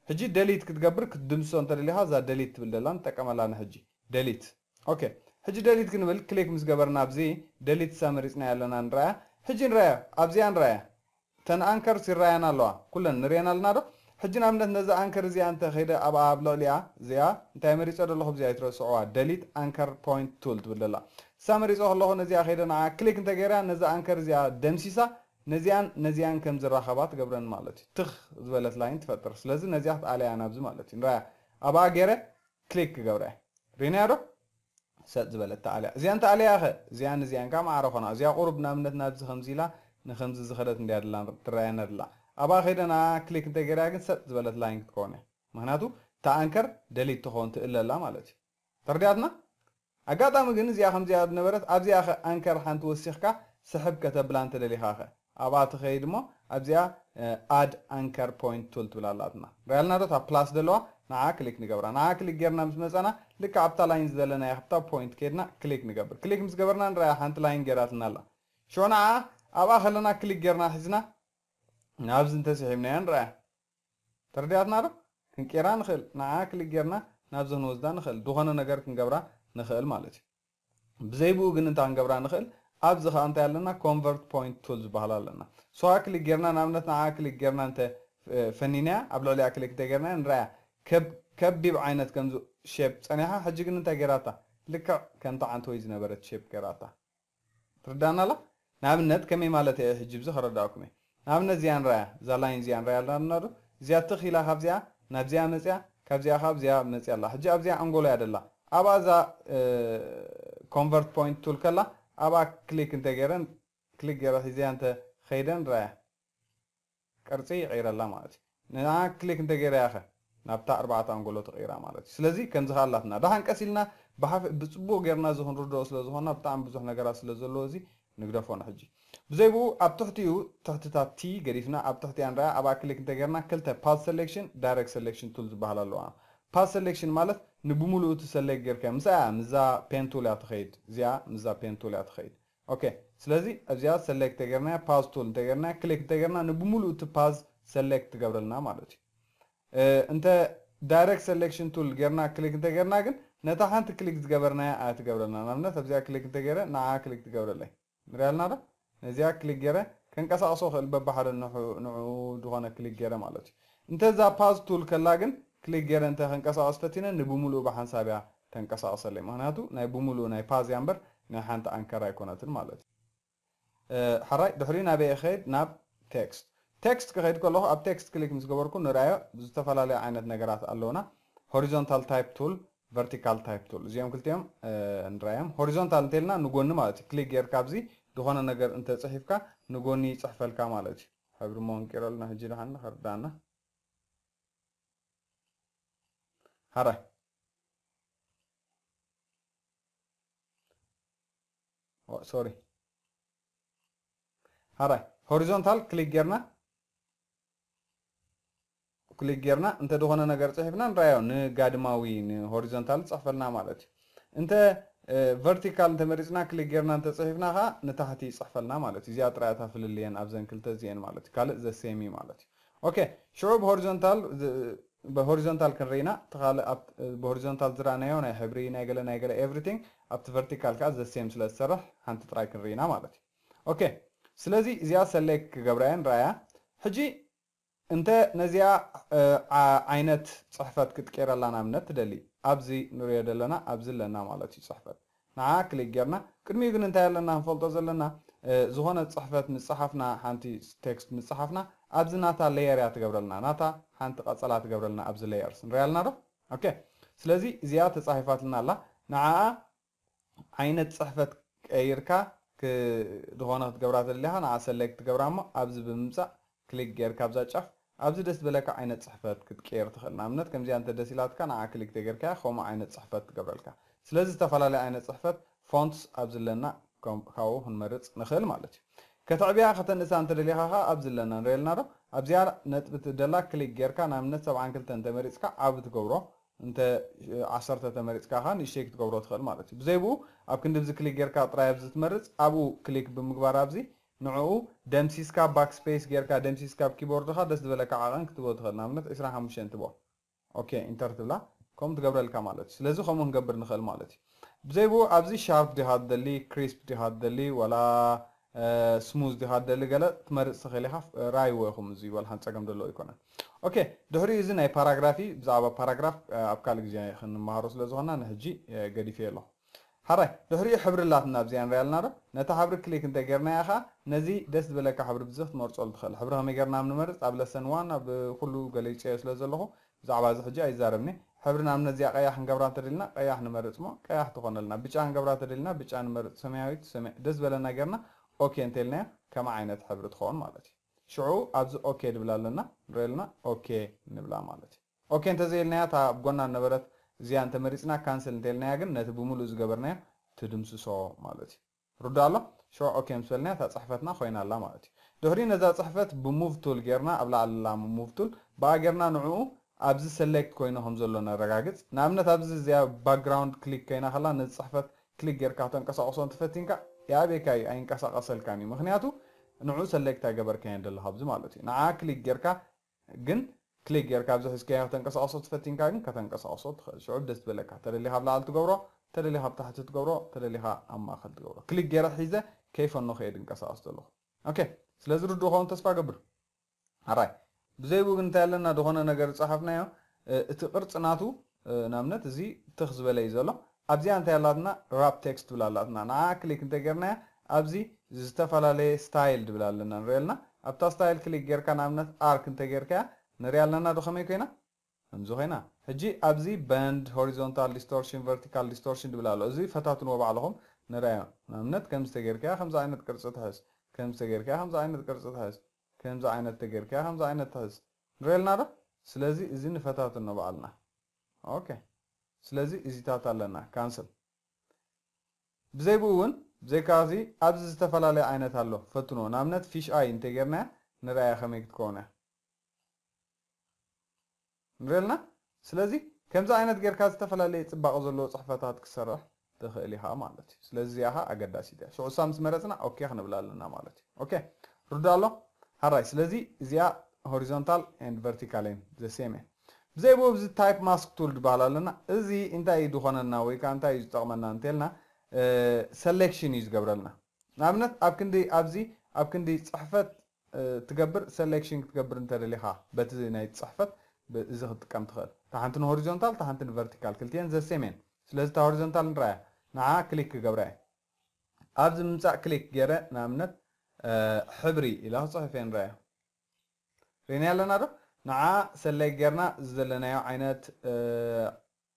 ሕጂ ደሊት ክትገብር ክትድምስሶ እንተደሊኻ እዛ ደሊት ትብል ደላ ንጠቀመላ ንሕጂ። ደሊት። ኦኬ። ሕጂ ደሊት ክንብል ክሊክ ምስ ገበርና ኣብዚ ደሊት እሳ መሪጽናያ ኣለና ንረኣያ። ሕጂ ንረኣያ፣ ኣብዚኣ ንረኣያ። እተን ኣንከርስ ይረኣያና ኣለዋ። ኩለን ንሪአን ኣለና ዶ? ሕጂ ንኣብነት ነዛ ኣንከር እዚኣ እንተ ኸይደ ኣብኣ ኣብ ልዕሊኣ እዚኣ እንታይ መሪጸ ዘለኹ ብዚኣ ይትረስዕዋ። ደሊት ኣንከር ፖይንት ቱል ትብል ደላ። እሳ መሪጸ ከለኹ ነዚኣ ኸይደ ንዓ ክሊክ እንተ ገይራ ነዛ ኣንከር እዚኣ ደምሲሳ ነዚኣን ነዚኣን ከም ዝራኸባ ትገብረን ማለት እዩ። ትኽ ዝበለት ላይን ትፈጥር። ስለዚ ነዚኣ ክትኣለያ ናብዚ ማለት እዩ። ንረኣያ። ኣብኣ ገይረ ክሊክ ክገብረ እየ። ሪእናያ ዶ? ሰጥ ዝበለት ተኣልያ። እዚኣን ተኣልያ ኸ? እዚኣን እዚኣን ከኣ ማዕረ ኾና። እዚኣ ቁሩብ ንኣብነት ናብዚ ከምዚ ኢላ ንከምዚ ዝኸደት እንድያ ደላ ትረኣየና ደላ። ኣብኣ ከይደ ንኣ ክሊክ እንተ ገይረያ ግን ሰጥ ዝበለት ላይን ክትከውን እያ። ምኽንያቱ እታ ኣንከር ደሊት ትኸውን ትእለ ኣላ ማለት እዩ። ተረዲኣትና? ኣጋጣሚ ግን እዚኣ ከምዚኣ ዝነበረት ኣብዚኣ ኸ ኣንከር ሓንቲ ወሲኽካ ስሕብ ከተብላ እንተ ደሊኻ ኸ? ኣብኣ ትኸይድ እሞ ኣብዚኣ፣ እ፣ ኣድ ኣንከር ፖይንት ቱል ትብል ኣላትና። ሪኣልና ዶ እታ ፕላስ ዘለዋ? ንዓ ክሊክ ንገብራ። ንዓ ክሊክ ጌርና ምስ መጻና ልክዕ ኣብታ ላይን ዘለናያ ኣብታ ፖይንት ከይድና ክሊክ ንገብር። ክሊክ ምስ ገበርና ንረኣያ ሓንቲ ላይን ጌራትና ኣላ። ሽዑ ንዓ ኣብኣ ከለና ክሊክ ጌርና ሒዝና ናብዚ እንተስሒብናያ ንረኣያ። ተረዲኣትና ዶ? ክንቅይራ ንኽእል። ንዓ ክሊክ ጌርና ናብዚ ክንወስዳ ንኽእል። ዝኾነ ነገር ክንገብራ ንኽእል ማለት እዩ። ብዘይ ብኡ ግን እንታይ ክንገብራ ንኽእል? ኣብዚ ኸኣ እንታይ ኣለና? ኮንቨርት ፖይንት ቱል ዝበሃል ኣለና። እሱ ኸኣ ክሊክ ጌርና፣ ንኣብነት ንዓ ክሊክ ጌርና እንተ፣ እ፣ ፈኒናያ፣ ኣብ ልዕሊኣ ክሊክ እንተ ጌርናያ ንረኣያ። ከብ-፣ ከቢብ ዓይነት ከምዚ ሼፕ ጸኒሓ፣ ሕጂ ግን እንታይ ጌራታ? ልክዕ ከምቲ ዓንተወይ ዝነበረት ሼፕ ጌራታ። ትርዳና ኣላ? ንኣብነት ከመይ ማለት እየ ሕጂ ብዚ ከረዳእኩም እየ። ንኣብነት እዚኣ ንረኣያ፣ እዛ ላይን እዚኣ ንረኣያ ኣለና ዶ? እዚኣ ትኽ ኢላ ካብዚኣ ናብዚኣ መጽያ፣ ካብዚኣ ካብ እዚኣ መጽያ ኣላ። ሕጂ ኣብዚኣ ኣንጎሎ እያ ደላ። ኣብኣ እዛ፣ እ፣ ኮንቨርት ፖይንት ቱል ከላ፣ ኣብኣ ክሊክ እንተ ገይረን፣ ክሊክ ገይረ ሒዘያ እንተ ኸይደ ንረኣያ። ቅርጺ ይቕይረላ ማለት እዩ። ንዓ ክሊክ እንተ ገይረያ ኸ ናብታ ኣርባዕተ ኣንጎሎ ትቕይራ ማለት እዩ። ስለዚ ከምዚ ኸኣ ኣላትና። ደሓን ቀስ ኢልና ብሓፍ-፣ ብጽቡቕ ጌርና እዚ ክንርድኦ ስለ ዝኾንና ብጣዕሚ ብዙሕ ነገራት ስለ ዘለዎ እዚ ንግደፎ ንሕጂ። ብዘይ ብኡ ኣብ ትሕቲኡ ትሕትታት ቲ ገዲፍና ኣብ ትሕቲኣ ንረኣ ኣብኣ ክሊክ እንተ ጌርና ክልተ ፓዝ ሰሌክሽን ዳይሬክት ሰሌክሽን ቱል ዝበሃላ ኣለዋ። ፓዝ ሰሌክሽን ማለት ንብምሉኡ እቲ ሰሌክት ጌርካ ምስኣ ምስዛ ፔን ቱል እያ ትኸይድ። እዚኣ ምስዛ ፔን ቱል እያ ትኸይድ። ኦኬ፣ ስለዚ ኣብዚኣ ሰሌክት ተገርና፣ ፓዝ ቱል እንተገርና፣ ክሊክ እንተገርና ንብሙሉእ እቲ ፓዝ ሰሌክት ትገብረልና ማለት እዩ። እንተ ዳይሬክት ሰሌክሽን ቱል ጌርና ክሊክ እንተጌርና ግን ነታ ሓንቲ ክሊክ ዝገበርናያ ኣይትገብረልና። ንኣብነት ኣብዚኣ ክሊክ እንተጌረ ንዓ ክሊክ ትገብረለይ። ንሪኣልና ዶ? ነዚኣ ክሊክ ጌረ ከንቀሳቕሶ ክእል በባሓደ ንዑ ዝኾነ ክሊክ ጌረ ማለት እዩ። እንተ እዛ ፓዝ ቱል ከላ ግን ክሊክ ጌረ እንተ ከንቀሳቐስ ፈቲነ ንብሙሉኡ ብሓንሳብ እያ ተንቀሳቕሰለይ። ምክንያቱ ናይ ብሙሉኡ ናይ ፓዝ እያ እምበር ናይ ሓንቲ ኣንከር ኣይኮነትን ማለት እዩ። ሓራይ ድሕሪኡ ናበይ እኸይድ? ናብ ቴክስት። ቴክስት ክኸይድ ከለኹ ኣብ ቴክስት ክሊክ ምስ ገበርኩ ንርኣዮ ዝተፈላለዩ ዓይነት ነገራት ኣለውና። ሆሪዞንታል ታይፕ ቱል፣ ቨርቲካል ታይፕ ቱል፣ እዚኦም ክልቲኦም ንርኣዮም። ሆሪዞንታል እንተልና ንጎኒ ማለት እዩ። ክሊክ ጌርካ ኣብዚ ዝኾነ ነገር እንተፅሒፍካ ንጎኒ ይፅሕፈልካ ማለት እዩ። ሕብሪ መንቂረልና ሕጂ ደሓን ንኸርዳና። ሓራይ ሶሪ ሓራይ ሆሪዞንታል ክሊክ ጌርና ክሊክ ጌርና እንተ ዝኾነ ነገር ፅሒፍና ንራዮ ንጋድማዊ ንሆሪዞንታል ፅሕፈልና ማለት እዩ። እንተ ቨርቲካል እንተመሪፅና ክሊክ ጌርና እንተፅሒፍና ከዓ ንታሕቲ ይፅሕፈልና ማለት እዩ። እዚኣ ጥራይ እታ ፍልልየን ኣብዘን ክልተ እዚአን ማለት እዩ። ካልእ ዘሴሚ ማለት እዩ። ኦኬ ሽዑ ብሆሪዞንታል ብሆሪዞንታል ክንርኢና እቲ ካልእ ብሆሪዞንታል ዝረኣናዮ ናይ ሕብሪ ናይ ገለ ናይ ገለ ኤቭሪቲንግ ኣብቲ ቨርቲካል ከዓ ዘሴም ስለ ዝሰርሕ ሓንቲ ጥራይ ክንርኢና ማለት እዩ። ኦኬ ስለዚ እዚኣ ሰሌክት ክገብራ እየ ንረኣያ። ሕጂ እንተ ነዚኣ ዓይነት ፅሕፈት ክትቀይረላ ናብነት ትደሊ ኣብዚ ንሪኦ ዘለና ኣብዚ ኣለና ማለት እዩ ፅሕፈት ንዓ ክሊክ ጌርና ቅድሚኡ ግን እንታይ ኣለና ንፈልጦ ዘለና ዝኾነ ፅሕፈት ምፅሓፍና ሓንቲ ቴክስት ምፅሓፍና ኣብዚ ናታ ሌየር እያ ትገብረልና ናታ ሓንቲ ቀፀላ ትገብረልና ኣብዚ ሌየርስ ንሪኣ ኣለና ዶ ኦኬ ስለዚ እዚኣ ተፃሒፋትልና ኣላ ንዓኣ ዓይነት ፅሕፈት ቀይርካ ዝኾነ ክትገብራ ተደሊኻ ንዓ ሰሌክት ትገብራ እሞ ኣብዚ ብምምፃእ ክሊክ ጌርካ ኣብዛ ጫፍ ኣብዚ ደስ ዝበለካ ዓይነት ፅሕፈት ክትቀይር ትኽእል ንኣብነት ከምዚኣ እንተ ደስ ኢላትካ ንዓ ክሊክ ተገርካያ ከምኡ ዓይነት ፅሕፈት ትገብረልካ ስለዚ ዝተፈላለዩ ዓይነት ፅሕፈት ፎንትስ ኣብዚ ኣለና ካብኡ ክንመርፅ ንኽእል ማለት እዩ ከተዕብያ ከተንእሳ እንተደሊኻ ከዓ ኣብዚ ኣለና ንሪእልና ዶ ኣብዚኣ ነጥቢ ትደላ ክሊክ ጌርካ ንኣብነት ሰብዓን ክልተን እንተመሪፅካ ዓቢ ትገብሮ እንተ ዓሰርተ ተመሪፅካ ከዓ ንእሽተይ ክትገብሮ ትኽእል ማለት እዩ ብዘይ ብኡ ኣብ ክንዲ ብዚ ክሊክ ጌርካ ጥራይ ኣብዚ ትመርፅ ኣብኡ ክሊክ ብምግባር ኣብዚ ንዕኡ ደምሲስካ ባክ ስፔስ ጌርካ ደምሲስካ ኣብ ኪቦርድኻ ደስ ዝበለካ ዓቐን ክትቦ ትኽእል ንኣብነት ዕስራን ሓሙሽተን ትቦ ኦኬ ኢንተር ትብላ ከምኡ ትገብረልካ ማለት እዩ ስለዚ ከምኡ ክንገብር ንኽእል ማለት እዩ ብዘይ ብኡ ኣብዚ ሻርፕ ዲኻ ትደሊ ክሪስፕ ዲኻ ትደሊ ወላ ስሙዝ ዲኻ ትደሊ ገለ ትመርፅ ትኽእል ኢኻ ራይዎ ኢኹም እዚ ወላ ሓንቲ ፀገም ዘለዎ ኣይኮነን ኦኬ ድሕሪኡ እዚ ናይ ፓራግራፊ ብዛዕባ ፓራግራፍ ኣብ ካልእ ግዜ ክንመሃሮ ስለ ዝኾና ንሕጂ ገዲፈ ኣለኹ ሓራይ ድሕሪኡ ሕብሪ ኣላትና ኣብዚኣ ንሪኣ ኣለና ዶ ነታ ሕብሪ ክሊክ እንተ ጌርናያ ኸዓ ነዚ ደስ ዝበለካ ሕብሪ ብዚ ክትመርፀሉ ትኽእል ሕብሪ ከመይ ጌርና ኣብ ንመርፅ ኣብ ለሰን ዋን ኣብ ኩሉ ገሊፀዮ ስለ ዘለኹ ብዛዕባ እዚ ሕጂ ኣይዛረብኒ ሕብሪ ንኣብነት እዚኣ ቀያሕ ክንገብራ እንተደልና ቀያሕ ንመርፅ ሞ ቀያሕ ትኾነልና ብጫ ክንገብራ እንተደልና ብጫ ንመርፅ ሰማያዊት ደስ ዝበለና ጌርና ኦኬ እንተልናዮ ከም ዓይነት ሕብሪ ትኸውን ማለት እዩ ሽዑ ኣብዚ ኦኬ ድብል ኣለና ንሪኦ ኣለና ኦኬ ንብላ ማለት እዩ ኦኬ እንተዘይልናያ እታ ኣብ ጎና ነበረት እዚኣ እንተመሪፅና ካንስል እንተልናያ ግን ነቲ ብምሉእ ዝገበርናዮ ትድምስሶ ማለት እዩ ርዶ ኣሎ ሽዑ ኦኬ ምስ በልናያ እታ ፅሕፈትና ኮይና ኣላ ማለት እዩ ድሕሪኡ ነዛ ፅሕፈት ብሙቭ ቱል ጌርና ኣብ ላዕሊ ኣላ ሙቭ ቱል ብኣ ጌርና ንዕኡ ኣብዚ ሰሌክት ኮይኑ ከም ዘሎ ነረጋግፅ ንኣብነት ኣብዚ እዚኣ ባክግራውንድ ክሊክ ኮይና ከላ ነዚ ፅሕፈት ክሊክ ጌርካ ተንቀሳቕሶ እንትፈቲንካ ይኣበየካ እዩ ኣይንቀሳቐሰልካን እዩ ምክንያቱ ንዑ ሰሌክት ኣይገበርካዮን ዘለካ ኣብዚ ማለት እዩ ንዓ ክሊክ ጌርካ ግን ክሊክ ጌርካ ኣብዚ ሒዝካዮ ከተንቀሳቕሶ ትፈቲንካ ግን ከተንቀሳቕሶ ትኽእል ሽዑ ደስ ዝበለካ ተደሊኻ ኣብ ላዕሊ ትገብሮ ተደሊኻ ኣብ ታሕቲ ትገብሮ ተደሊኻ ኣብ ማእኸል ትገብሮ ክሊክ ጌረ ሒዘ ከይፈኖ ከየ ድንቀሳቐስ ዘለኹ ኦኬ ስለዚ ርድኡ ኸውን ተስፋ ገብር ኣራይ ብዘይብኡ ግን እንታይ ኣለና ዝኾነ ነገር ዝፀሓፍናዮ እቲ ቅርፂ ናቱ ንኣብነት እዚ ትኽ ዝበለ እዩ ዘሎ ኣብዚኣ እንታይ ኣላትና ራፕ ቴክስት ትብል ኣላትና ንዓ ክሊክ እንተጌርናያ ኣብዚ ዝተፈላለየ ስታይል ድብል ኣለና ንሪኦ ኣለና ኣብታ ስታይል ክሊክ ጌርካ ንኣብነት ኣርክ እንተጌርካያ ንሪኣ ኣለና ዶ ከመይ ኮይና ከምዚ ኮይና ሕጂ ኣብዚ በንድ ሆሪዞንታል ዲስቶርሽን ቨርቲካል ዲስቶርሽን ድብል ኣሎ እዚ ፈታትንዎ ባዕልኹም ንርኣዮ ንኣብነት ከምዚ ተጌርካያ ከምዚ ዓይነት ቅርፂ ትሕዝ ከምዚ ተጌርካያ ከምዚ ዓይነት ቅርፂ ትሕዝ ከምዚ ዓይነት ተጌርካያ ከምዚ ዓይነት ትሕዝ ንሪኦ ኣለና ዶ ስለዚ እዚ ንፈታትኖ ባዕልና ኦኬ ስለዚ እዚታት ኣለና ካንስል ብዘይ ብኡ እውን ብዘይካ እዚ ኣብዚ ዝተፈላለየ ዓይነት ኣሎ ፈትኖ ንኣብነት ፊሽ ኣይ እንተጌርናያ ንርኣያ ከመይ ክትከውን እያ ንሪእልና ስለዚ ከምዚ ዓይነት ጌርካ ዝተፈላለየ ፅባቐ ዘለዎ ፅሕፈታት ክሰርሕ ትኽእል ኢኻ ማለት እዩ። ስለዚ እዚኣ ኸዓ ኣገዳሲት እያ። ሽዑ እሳ ምስ መረፅና ኦኬ ክንብል ኣለና ማለት እዩ። ኦኬ፣ ርዶ ኣሎ? ሃራይ። ስለዚ እዚኣ horizontal and vertical እየን፣ the same እየን። ብዘይ ብኡ፣ እዚ type mask tool ዝበሃል ኣለና። እዚ እንታይ እዩ ዝኾነና ወይ ከዓ እንታይ እዩ ዝጠቕመና እንተልና፣ እ፣ selection እዩ ዝገብረልና። ንኣብነት ኣብ ክንዲ፣ ኣብዚ ኣብ ክንዲ ፅሕፈት እ፣ ትገብር፣ selection ክትገብር እንተደሊኻ በቲ ናይ ጽሕፈት ብ-፣ እዚ ክትጥቀም ትኽእል። እታ ሓንቲ ን horizontal፣ እታ ሓንቲ ን vertical፣ ክልቲኤን the same እየን። ስለዚ እታ horizontal ንረኣያ፣ ንዓ ክሊክ ክገብራ እየ። ኣብዚ ምምጻእ ክሊክ ገይረ፣ ንኣብነት፣ እ፣ ሕብሪ ኢለ ክጽሕፍ እየ፣ ንረኣያ። ርኢና ኣለና ዶ? ንዓ ሰለይ ጌርና ዝደለናዮ ዓይነት፣ እ፣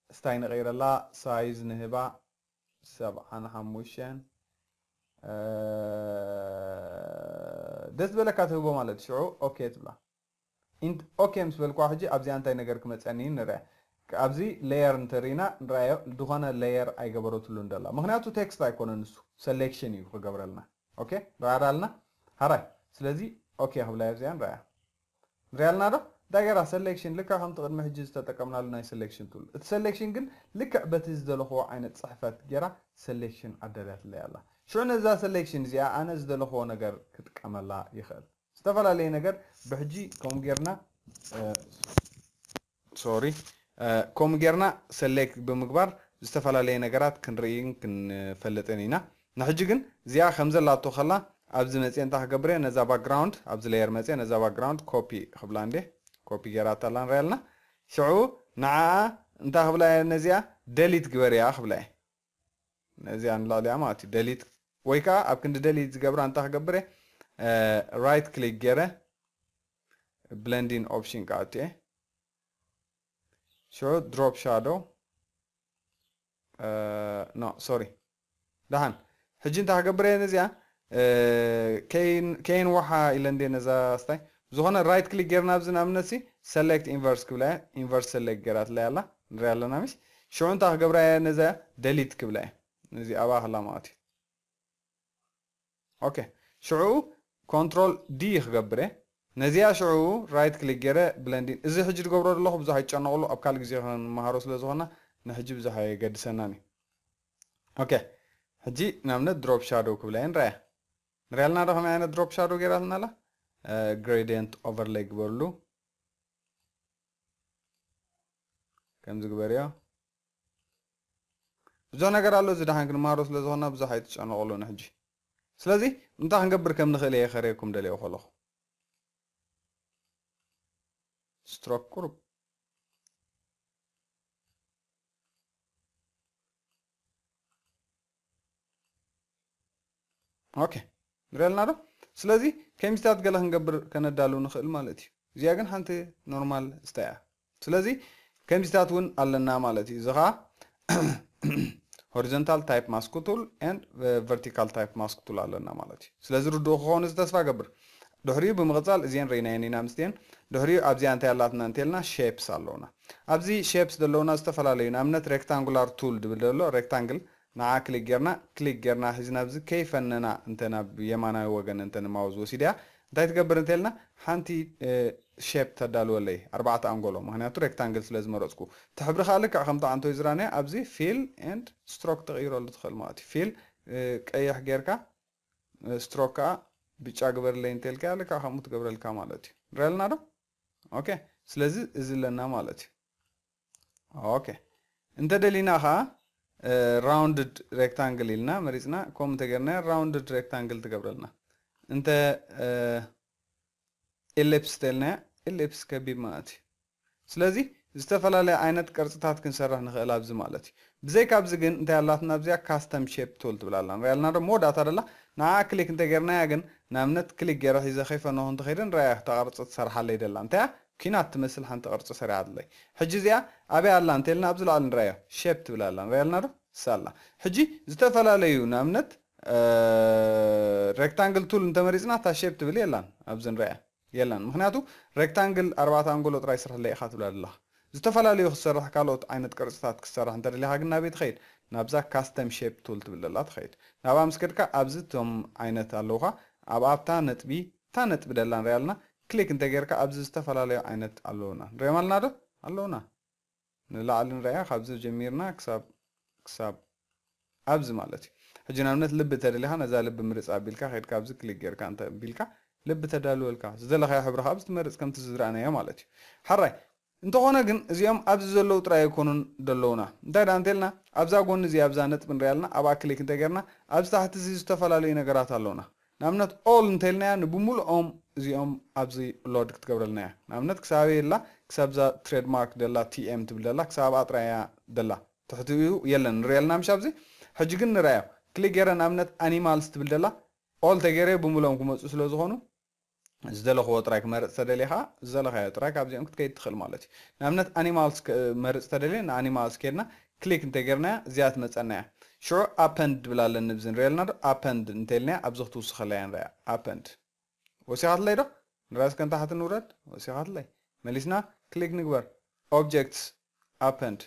ስታይ ንቐይረላ፣ ሳይዝ ንህባ፣ ሰብዓን ሓሙሽተን፣ እ፣ ደስ ዝበለካ ትህቦ ማለት እዩ። ሽዑ ኦኬ ትብላ። ኢንት-፣ ኦኬ ምስ በልኳ፣ ሕጂ ኣብዚኣ እንታይ ነገር ክመፀኒ እዩ ንርኣ። ኣብዚ ሌየር እንተሪና ንርኣዮ፣ ዝኾነ ሌየር ኣይገበረትሉን ደላ። ምኽንያቱ ቴክስት ኣይኮነን፣ ንሱ ሰሌክሽን እዩ ክገብረልና። ኦኬ፣ ንርኣ ዳልና ሃራይ። ስለዚ ኦኬ ክብላ ኣብዚኣ ንርኣያ። ንሪኣልና ዶ? እንታይ ገይራ? ሰሌክሽን፣ ልክዕ ከምቲ ቅድሚ ሕጂ ዝተጠቀምናሉ ናይ ሰሌክሽን ቱል። እቲ ሰሌክሽን ግን ልክዕ በቲ ዝደለኽዎ ዓይነት ጽሕፈት ገይራ ሰሌክሽን ኣዳልያትለይ ኣላ። ሽዑ ነዛ ሰሌክሽን እዚኣ ኣነ ዝደለኽዎ ነገር ክጥቀመላ ይኽእል። ዝተፈላለየ ነገር ብሕጂ ከምኡ ጌርና፣ እ፣ ሶሪ፣ እ፣ ከምኡ ጌርና ሰሌክት ብምግባር ዝተፈላለየ ነገራት ክንርኢን ክንፈልጥን ኢና። ንሕጂ ግን እዚኣ ከም ዘላቶ ከላ ኣብዚ መፅየ እንታይ ክገብር እየ? ነዛ ባክግራውንድ፣ ኣብዚ ሌየር መፅየ ነዛ ባክግራውንድ ኮፒ ክብላ እንዴ፣ ኮፒ ጌራታ ኣላ ንሪኣ ኣለና። ሽዑ ንዓኣ እንታይ ክብላ እየ? ነዚኣ ደሊት ግበርያ ክብላ እየ። ነዚኣ ንላዕሊኣ ማለት እዩ፣ ደሊት። ወይ ከዓ ኣብ ክንዲ ደሊት ዝገብራ እንታይ ክገብር እየ? እ፣ ራይት ክሊክ ገይረ ብለንዲንግ ኦፕሽን ክኣቱ እየ። ሽዑ ድሮፕ ሻዶ፣ እ፣ ኖ፣ ሶሪ። ደሓን። ሕጂ እንታይ ክገብር እየ ነዚኣ? እ፣ ከይን-፣ ከይንዋሓ ኢለ እንዴ ነዛ ስታይ። ዝኾነ ራይት ክሊክ ጌርና ኣብዚ ንኣብነት ሲ ሰሌክት ኢንቨርስ ክብላ እየ። ኢንቨርስ ሰሌክት ጌራትለይ ኣላ። ንሪኣ ኣለና ምሽ? ሽዑ እንታይ ክገብራ እየ ነዛ ደሊት ክብላ እየ። ነዚ ኣብኣ ከላ ማለት እዩ። ኦኬ። ሽዑ ኮንትሮል ዲ ክገብር እየ። ነዚኣ ሽዑ ራይት ክሊክ ገይረ ብለንዲን። እዚ ሕጂ ዝገብሮ ዘለኹ ብዙሕ ኣይትጨነቕሉ፣ ኣብ ካልእ ግዜ ክንመሃሮ ስለ ዝኾና ንሕጂ ብዙሕ ኣየገድሰናን እዩ። ኦኬ። ሕጂ ንኣብነት ድሮፕ ሻዶው ክብላ እየ ንረኣያ። ንሪኣልና ዶ ከመይ ዓይነት ድሮፕ ሻዶው ገይራትና ኣላ? እ፣ ግሬዲየንት ኦቨርሌይ ግበርሉ። ከምዚ ግበርዮ። ብዙሕ ነገር ኣሎ፣ እዚ ደሓን ክንመሃሮ ስለ ዝኾንና ብዙሕ ኣይትጨነቑሉ ንሕጂ። ስለዚ እንታይ ክንገብር ከም ንኽእል እየ ከርእየኩም ደልየ ከለኹ። ስትሮክ ቁሩብ። ኦኬ፣ ንሪኣልና ዶ? ስለዚ ከሚስታት ገለ ክንገብር ከነዳሉ ንኽእል ማለት እዩ። እዚኣ ግን ሓንቲ ኖርማል ስታይ እያ። ስለዚ ከሚስታት እውን ኣለና ማለት እዩ። እዚ ኸዓ ሆሪዞንታል ታይፕ ማስክ ቱል ኤንድ ቨርቲካል ታይፕ ማስክ ቱል ኣለና ማለት እዩ። ስለዚ ርዱእ ክኸውን እዚ ተስፋ ገብር። ድሕሪኡ ብምቕጻል እዚአን ርኢናየን ኢና ምስቲአን። ድሕሪኡ ኣብዚኣ እንታይ ኣላትና እንተልና ሼፕስ ኣለውና። ኣብዚ ሼፕስ ዘለውና ዝተፈላለዩ፣ ንኣብነት ሬክታንጉላር ቱል ድብል ዘሎ ሬክታንግል፣ ንዓ ክሊክ ጌርና፣ ክሊክ ጌርና ሒዝና ኣብዚ ከይፈነና እንተ ናብ የማናዊ ወገን እንተ ንማውዝ ወሲድያ፣ እንታይ ትገብር እንተልና ሓንቲ፣ እ፣ ሼፕ ተዳልወለይ፣ ኣርባዕተ ኣንጎሎ፣ ምኽንያቱ ሬክታንግል ስለ ዝመረጽኩ። እቲ ሕብሪ ከኣ ልክዕ ከምቲ ዓንቶይ ዝራናዮ ኣብዚ ፊል ኤንድ ስትሮክ ትቕይረሉ ትኽእል ማለት እዩ። ፊል፣ እ፣ ቀይሕ ጌርካ፣ እ፣ ስትሮክ ከኣ ብጫ ግበርለይ እንተልካ ልክዕ ከምኡ ትገብረልካ ማለት እዩ። ንሪኣልና ዶ? ኦኬ። ስለዚ እዚ ኣለና ማለት እዩ። ኦኬ። እንተ ደሊና ኸዓ፣ እ፣ ራውንድድ ሬክታንግል ኢልና መሪጽና፣ ከምኡ እንተገርና ራውንድድ ሬክታንግል ትገብረልና። እንተ፣ እ፣ ኤሊፕስ ተልናያ፣ ኤሊፕስ ከቢብ ማለት እዩ። ስለዚ ዝተፈላለየ ዓይነት ቅርጽታት ክንሰርሕ ንኽእል ኣብዚ ማለት እዩ። ብዘይካ ኣብዚ ግን እንታይ ኣላትና ኣብዚኣ? ካስተም ሼፕ ቱል ትብል ኣላ። ንሪኣልና ዶ? መወዳእታ ደላ ንዓ ክሊክ እንተጌርናያ ግን፣ ንኣብነት ክሊክ ገይረ ሒዘ ከይፈነኹ እንተኸይደ ንረኣያ እታ ቅርጺ ትሰርሓለይ ደላ። እንታይ እያ? ኲናት ትመስል ሓንቲ ቅርጺ ሰሪሓትለይ። ሕጂ እዚኣ ኣበይ ኣላ እንተልና ኣብዚ ላዕሊ ንረኣዮ። ሼፕ ትብል ኣላ። ንሪኣልና ዶ? እሳ ኣላ። ሕጂ ዝተፈላለዩ ንኣብነት፣ እ፣ ሬክታንግል ቱል እንተመሪጽና እታ ሼፕ ትብል የላን ኣብዚ ንረኣያ። የላን። ምኽንያቱ ሬክታንግል ኣርባዕተ ኣንጎሎ ጥራይ ስርሕለይ ኢኻ ትብላ ዘለኻ። ዝተፈላለዩ ክትሰርሕ ካልኦት ዓይነት ቅርጽታት ክትሰርሕ እንተደሊኻ ግን ናበይ ትኸይድ? ናብዛ ካስተም ሼፕ ቱል ትብል ዘላ ትኸይድ። ናብኣ ምስ ከድካ ኣብዚ እቶም ዓይነት ኣለውኻ። ኣብ ኣብታ ነጥቢ፣ እታ ነጥቢ ደላ ንሪኣ ኣለና። ክሊክ እንተጌርካ ኣብዚ ዝተፈላለዩ ዓይነት ኣለውና። ንሪኦም ኣለና ዶ? ኣለውና። ንላዕሊ ንሪኣ ካብዚ ጀሚርና ክሳብ፣ ክሳብ ኣብዚ ማለት እዩ። ሕጂ ንኣብነት ልቢ ተደሊኻ ነዛ ልቢ ምርጽ ኣቢልካ ከድካ ኣብዚ ክሊክ ጌርካ እንተ ቢልካ ልቢ ተዳልወልካ፣ ዝደለኻዮ ሕብሪ ካብ ዝትመርጽ ከምቲ ዝረኣናዮ ማለት እዩ። ሓራይ እንተኾነ ግን እዚኦም ኣብዚ ዘለዉ ጥራይ ኣይኮኑን ደለዉና። እንታይ ደኣ እንተልና ኣብዛ ጎኒ እዚ ኣብዛ ነጥቢ ንሪኣ ኣለና፣ ኣብኣ ክሊክ እንተጌርና ኣብዚ ታሕቲ እዚ ዝተፈላለዩ ነገራት ኣለዉና። ንኣብነት ኦል እንተልናያ ንብምሉኦም እዚኦም ኣብዚ ሎድ ክትገብረልና እያ። ንኣብነት ክሳብ የላ ክሳብ እዛ ትሬድማርክ ደላ ቲኤም ትብል ደላ ክሳብ ኣብኣ ጥራይ እያ ደላ። ትሕቲኡ የለን ንሪኦ ኣለና ምሽ ኣብዚ። ሕጂ ግን ንርኣዮ። ክሊክ ገይረ ንኣብነት ኣኒማልስ ትብል ደላ ኦል ተገይረ ብምሎም ክመፁ ስለ ዝኾኑ ዝደለኽዎ ጥራይ ክመርፅ ተደሊኻ ዝደለኻዮ ጥራይ ካብዚኦም ክትከይድ ትኽእል ማለት እዩ። ንኣብነት ኣኒማልስ መርፅ ተደልየ ንኣኒማልስ ከድና ክሊክ እንተጌርናያ እዚኣ ትመፀና እያ። ሽዑ ኣፐንድ ድብል ኣለኒ ብዚ ንሪኦ ኣለና ዶ ኣፐንድ እንተልናያ ኣብዚ ክትውስኸላ እያ ንሪያ ኣፐንድ ወሲኻትለይ ዶ ንሪያ እስከ ንታሕቲ ንውረድ ወሲኻትለይ መሊስና ክሊክ ንግበር ኦብጀክትስ ኣፐንድ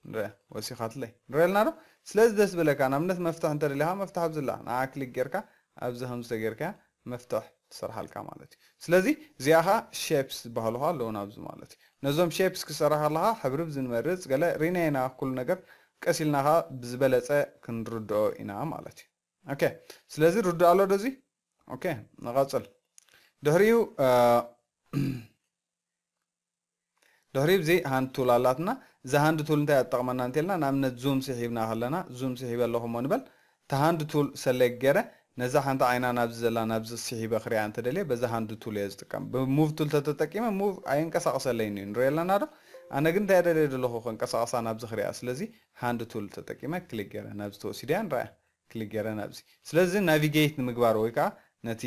ንሪኣ ወሲኻትለይ ንሪኦ ኣለና ዶ። ስለዚ ደስ በለካ ንኣብነት መፍትሕ እንተደሊኻ መፍትሕ ኣብዝላ ንዓ ክሊክ ጌርካ ኣብዚ ከምዚ ተጌርካ መፍትሕ ትሰርሓልካ ማለት እዩ። ስለዚ እዚኣ ኸዓ ሼፕስ ዝበሃሉ ኸዓ ኣለዉ ናብዚ ማለት እዩ። ነዞም ሼፕስ ክሰርሕ ከለኻ ሕብሪ ብዝንመርፅ ገለ ሪና ኢና ኩሉ ነገር ቀስ ኢልና ኸዓ ብዝበለፀ ክንርድኦ ኢና ማለት እዩ። ኦኬ ስለዚ ርዱእ ኣሎ ዶ እዚ? ኦኬ ንቐፅል። ድሕሪኡ ድሕሪ ብዚ ሃንድ ቱል ኣላትና። እዛ ሃንድ ቱል እንታይ ትጠቕመና እንተልና ንኣብነት ዙም ስሒብና ከለና ዙም ስሒበ ኣለኹ እሞ ንበል እታ ሃንድ ቱል ሰሌክት ገይረ ነዛ ሓንቲ ዓይና ናብዚ ዘላ ናብዚ ስሒበ ክሪኣ እንተደልየ በዛ ሃንድ ቱል እየ ዝጥቀም። ብሙቭ ቱል ተተጠቂመ ሙቭ ኣየንቀሳቕሰለይን እዩ ንሪኦ ኣለና ዶ። ኣነ ግን እንታይ ደልየ ዘለኹ ከንቀሳቕሳ ናብዚ ክሪኣ ስለዚ ሃንድ ቱል ተጠቂመ ክሊክ ገይረ ናብዚ ተወሲደ እያ ንረኣያ። ክሊክ ገይረ ናብዚ ስለዚ ናቪጌት ንምግባር ወይ ከዓ ነቲ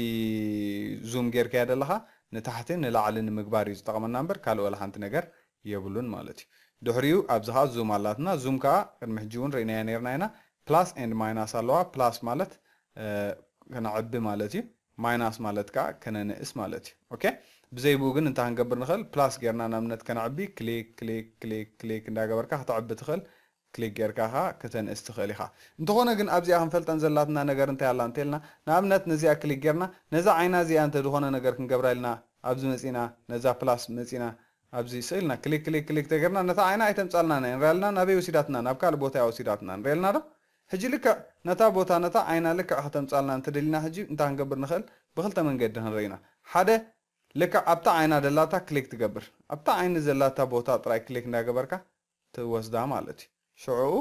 ዙም ጌርካዮ ዘለኻ ንታሕቲ ንላዕሊ ንምግባር እዩ ዝጠቕመና እምበር ካልእ ወላ ሓንቲ ነገር የብሉን ማለት እዩ። ድሕሪኡ ኣብዚ ከዓ ዙም ኣላትና ዙም ከዓ ቅድሚ ሕጂ እውን ርኢናዮ ነርና ኢና ፕላስ ኤንድ ማይናስ ኣለዋ ፕላስ ማለት ከነዕቢ ማለት እዩ ማይናስ ማለት ከዓ ከነንእስ ማለት እዩ። ኦኬ ብዘይ ብኡ ግን እንታይ ክንገብር ንኽእል ፕላስ ጌርና ንኣብነት ከነዕቢ ክሊክ ክሊክ ክሊክ ክሊክ እንዳገበርካ ከተዕቢ ትኽእል ክሊክ ጌርካ ኸዓ ክተንእስ ትኽእል ኢኻ። እንተኾነ ግን ኣብዚኣ ክንፈልጠን ዘላትና ነገር እንታይ ኣላ እንተልና ንኣብነት ነዚኣ ክሊክ ጌርና ነዛ ዓይና እዚኣ እንተ ዝኾነ ነገር ክንገብራ ኢልና ኣብዚ መጺና ነዛ ፕላስ መጺና ኣብዚ ስእልና ክሊክ ክሊክ ክሊክ ተገርና ነታ ዓይና ኣይተምጻልና ናይ ንሪኣልና ናበይ ወሲዳትና ናብ ካልእ ቦታ እያ ወሲዳትና ንሪኣልና ዶ ሕጂ ልክዕ ነታ ቦታ ነታ ዓይና ልክዕ ከተምጻልና እንተደሊና ሕጂ እንታይ ክንገብር ንኽእል ብክልተ መንገዲ ክንርኢና ሓደ ልክዕ ኣብታ ዓይና ደላታ ክሊክ ትገብር ኣብታ ዓይኒ ዘላታ ቦታ ጥራይ ክሊክ እንዳገበርካ ትወስዳ ማለት እዩ። ሽዑኡ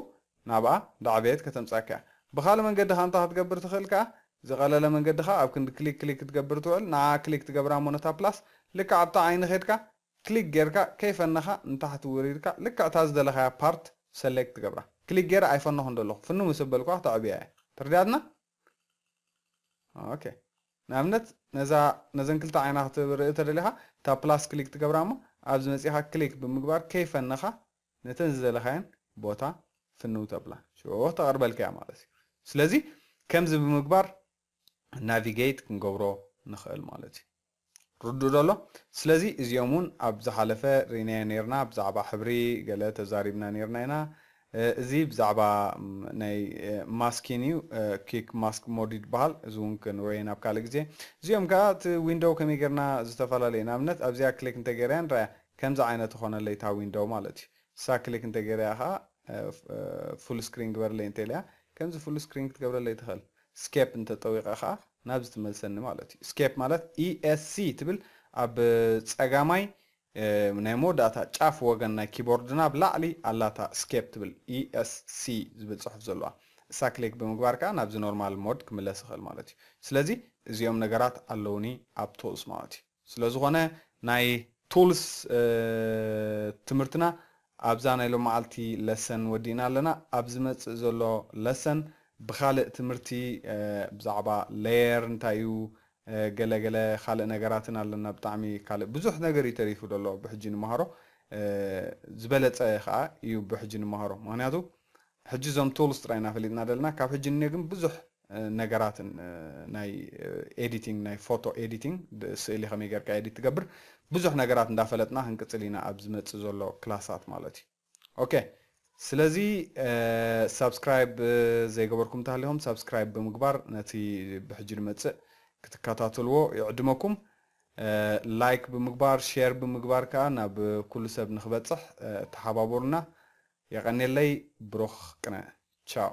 ናብኣ እንዳዕበየት ከተምጻካ እያ። ብኻልእ መንገዲ ኸኣ እንታይ ክትገብር ትኽእል ከኣ ዝቐለለ መንገዲ ኸኣ ኣብ ክንዲ ክሊክ ክሊክ ክትገብር ትውዕል ንዓ ክሊክ ትገብራ እሞ ነታ ፕላስ ልክዕ ኣብታ ዓይኒ ኸድካ ክሊክ ጌርካ ከይፈነኻ ንታሕቲ ውሪድካ ልክዕ እታ ዝደለኻያ ፓርት ሰሌክት ትገብራ። ክሊክ ጌረ ኣይፈነኹን ዘለኹ ፍኑ ምስ በልኳ ክተዕብያ እያ። ተረዲኣትና? ኦኬ ንኣብነት ነዛ ነዘን ክልተ ዓይና ክትርኢ ተደሊኻ እታ ፕላስ ክሊክ ትገብራ እሞ ኣብዚ መፂኻ ክሊክ ብምግባር ከይፈነኻ ነተን ዝደለኻየን ቦታ ፍንው ተብላ ሽዑ ተቐርበልካ እያ ማለት እዩ። ስለዚ ከምዚ ብምግባር ናቪጌት ክንገብሮ ንኽእል ማለት እዩ። ርዱእ ዶ ኣሎ? ስለዚ እዚኦም እውን ኣብ ዝሓለፈ ርኢናዮ ነርና ብዛዕባ ሕብሪ ገለ ተዛሪብና ነርና ኢና። እዚ ብዛዕባ ናይ ማስኪን እዩ። ኪክ ማስክ ሞድ ይበሃል። እዚ እውን ክንሪኦ ናብ ካልእ ግዜ። እዚኦም ከዓ እቲ ዊንዶው ከመይ ጌርና ዝተፈላለዩ ንኣብነት ኣብዚኣ ክሊክ እንተገይረያ ንረኣያ ከምዚ ዓይነት ትኾነለይ እታ ዊንዶው ማለት እዩ። እሳ ክሊክ እንተገይረያ ከዓ ፉል ስክሪን ግበርለይ እንተኢለያ ከምዚ ፉል ስክሪን ክትገብረለይ ትኽእል። ስኬፕ እንተጠዊቐ ከዓ ናብዚ ትመልሰኒ ማለት እዩ። ስኬፕ ማለት ኢኤስሲ ትብል ኣብ ፀጋማይ ናይ መወዳእታ ጫፍ ወገን ናይ ኪቦርድና ብላዕሊ ኣላታ ስኬፕ ትብል ኢኤስሲ ዝብል ፅሑፍ ዘለዋ እሳ ክሊክ ብምግባር ከዓ ናብዚ ኖርማል ሞድ ክምለስ ይኽእል ማለት እዩ። ስለዚ እዚኦም ነገራት ኣለውኒ ኣብ ቱልስ ማለት እዩ። ስለ ዝኾነ ናይ ቱልስ ትምህርትና ኣብዛ ናይ ሎመዓልቲ ለሰን ወዲእና ኣለና። ኣብ ዝመፅእ ዘሎ ለሰን ብኻልእ ትምህርቲ ብዛዕባ ሌየር እንታይ እዩ ገለገለ ካልእ ነገራትን ኣለና። ብጣዕሚ ካልእ ብዙሕ ነገር እዩ ተሪፉ ዘሎ ብሕጂ ንመሃሮ ዝበለፀ ከዓ እዩ ብሕጂ ንመሃሮ። ምክንያቱ ሕጂ እዞም ቱልስ ጥራይ ኢና ፈሊጥና ዘለና። ካብ ሕጂ ንኔ ግን ብዙሕ ነገራትን ናይ ኤዲቲንግ ናይ ፎቶ ኤዲቲንግ ስእሊ ከመይ ጌርካ ኤዲት ትገብር ብዙሕ ነገራት እንዳፈለጥና ክንቅፅል ኢና ኣብ ዝመፅእ ዘሎ ክላሳት ማለት እዩ። ኦኬ ስለዚ ሳብስክራይብ ዘይገበርኩም እንተሃሊኹም ሳብስክራይብ ብምግባር ነቲ ብሕጂ ዝመፅእ ክትከታተልዎ ይዕድመኩም። ላይክ ብምግባር ሼር ብምግባር ከዓ ናብ ኩሉ ሰብ ንክበፅሕ ተሓባበሩና። የቐኔለይ ብሩኽ ቅነ ቻው።